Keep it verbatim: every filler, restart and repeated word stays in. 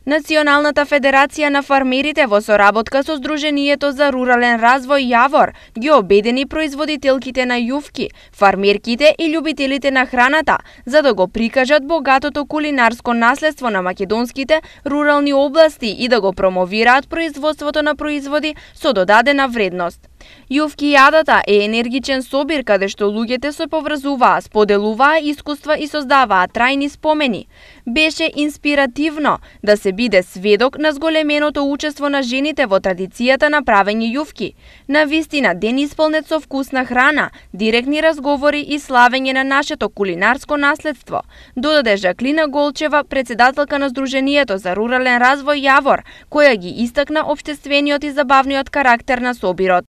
Националната федерација на фармерите во соработка со Сдруженијето за рурален развој Јавор ги обедини производителките на јувки, фармерките и љубителите на храната за да го прикажат богатото кулинарско наследство на македонските рурални области и да го промовираат производството на производи со додадена вредност. Јувки јадата е енергичен собир каде што луѓето се поврзуваа, споделуваа искуства и создаваа трајни спомени. Беше инспиративно да се биде сведок на зголеменото учество на жените во традицијата на правење јувки. На вистина ден исполнет со вкусна храна, директни разговори и славење на нашето кулинарско наследство, додаде Жаклина Голчева, председателка на Сдруженијето за рурален развој Јавор, која ги истакна општествениот и забавниот карактер на собирот.